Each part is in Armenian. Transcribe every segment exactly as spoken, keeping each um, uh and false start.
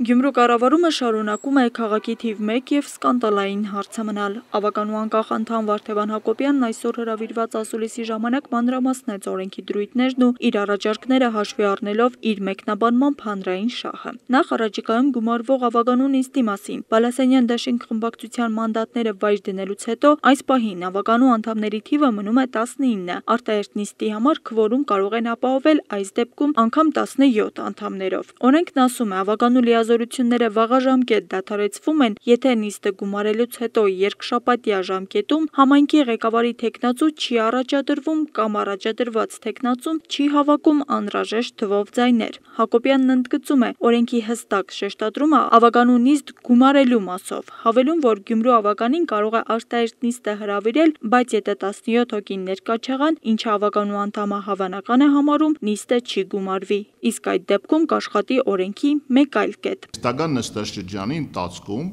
Գյումրու կառավարումը շարունակում է քաղաքի թիվ մեկ և սկանդալային հարցը մնալ։ Ավականու անկախ անդամ Վարդևան Հակոբյանն այսօր հրավիրված ասուլիսի ժամանակ մանրամասնեց օրենքի դրույթներն ու իր առաջարկները հաշվի առնելով իր մեկնաբանմամբ հանրային շահը։ Նախ առաջիկայում գումարվող ավականու նիստի մասին։ Բալասանյան դաշինք խմբակցության մանդատները վայր դնելուց հետո այս պահին ավականու անդամների թիվը մնում է տասնինը։ Արտահերթ նիստի համար քվորում կարող են ապահովել այս դեպքում անգամ տասնյոթ անդամներով։ Օրենքն ասում է, ավականու լիազորությունները վաղաժամկետ դադարեցվում են, եթե նիստը գումարելուց հետո երկշաբաթյա ժամկետում համայնքի ղեկավարի թեկնածու չի առաջադրվում կամ առաջադրված թեկնածուն չի հավաքում անհրաժեշտ թվով ձայներ։ Հակոբյանն ընդգծում է, օրենքի հստակ շեշտադրումը ավականու նիստ գումարելու մասով, հավելում, որ Գյումրու ավականին կարող է արտահերթ նիստը հրավիրել, բայց եթե տասնյոթ հոգին ներկա չեղան, ինչը ավականու անդամը հավանական է համարում, նիստը չի գումարվի, իսկ այդ դեպքում կաշխատի օրենքի մեկ այլ կետ։ Տական նստաշրջանի ընթացքում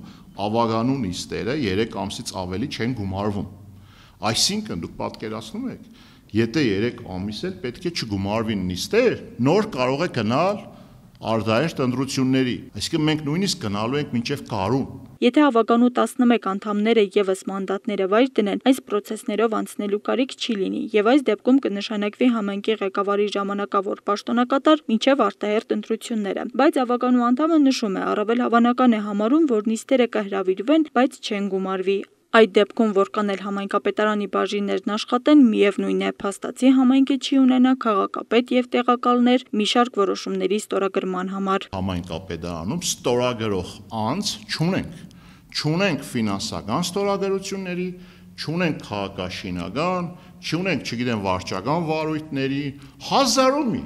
ավականու նիստերը երեք ամսից ավելի չեն գումարվում։ Այսինքն դուք պատկերացնում եք, եթե երեք ամիս էլ պետք է չգումարվին նիստեր, նոր կարող է գնալ արտահերթ ընտրությունների, այսինքն մենք նույնիսկ գնալու ենք մինչև գարուն։ Եթե ավականու տասնմեկ անդամները ևս մանդատները վայր դնեն, այս պրոցեսներով անցնելու կարիք չի լինի, եւ այս դեպքում կնշանակվի համայնքի ղեկավարի ժամանակավոր պաշտոնակատար մինչև արտահերթ ընտրությունները։ Բայց ավականու անդամը նշում է, առավել հավանական է համարում, որ նիստերը կհրավիրվեն, բայց չեն գումարվի։ Այդ դեպքում, որքան էլ համայնքապետարանի բաժիններն աշխատեն, միևնույն է, փաստացի համայնքը չի ունենա քաղաքապետ եւ տեղակալներ մի շարք որոշումների ստորագրման համար։ Համայնքապետարանում ստորագրող անձ չունենք, չունենք ֆինանսական ստորագրությունների, չունենք քաղաքաշինական, չունենք, չգիտեմ, վարչական վարույթների, հազարով մի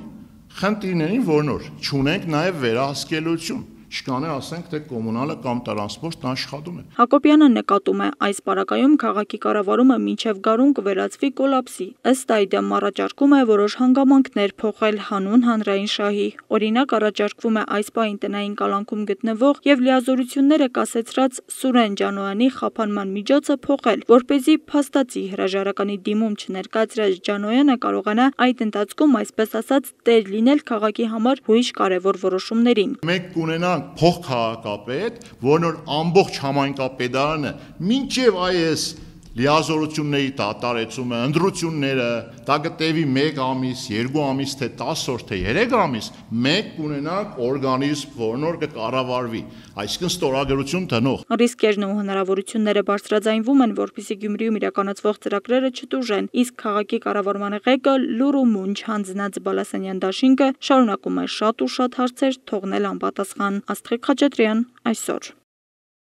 խնդիրների, որ նոր չունենք նաեւ վերահսկելիություն։ Չկան է ասենք, թե կոմունալը կամ տրանսպորտն աշխատում է։ Հակոբյանը նկատում է, այս պարագայում քաղաքի կառավարումը մինչև գարուն կվերածվի կոլապսի։ Ըստ այդմ առաջարկում է որոշ հանգամանքներ փոխել հանուն հանրային շահի։ Օրինակ առաջարկվում է այս պահին տնային կալանքում գտնվող եւ լիազորությունները կասեցրած Սուրեն Ջանոյանի խափանման միջոցը փոխել, որպեսզի փաստացի հրաժարականի դիմում չներկայացրած Ջանոյանը կարողանա այդ ընթացքում, այսպես ասած, տեր լինել քաղաքի համար հույժ կարևոր որոշումներին։ Մենք կունենանք փոխքաղաքապետ, որն որ ամբողջ համայնքապետարանը մինչև այս լիազորությունների դատարեցումը, ընտրությունները, դա կտևի մեկ ամիս, երկու ամիս, թե տասը օր, թե երեք ամիս, մենք կունենանք օրգանիզմ, որն որ կկառավարվի, այսինքն ստորագրություն տնող։ Ռիսկերն ու հնարավորությունները բարձրաձայնվում են, որպեսզի Գյումրիում իրականացվող ծրագրերը չտուժեն, իսկ քաղաքի կառավարման ղեկը լուռ ու մունջ հանձնած Բալասանյան դաշինքը շարունակում է շատ ու շատ հարցեր թողնել անպատասխան։ Աստղիկ Խաչատրյան, այսօր։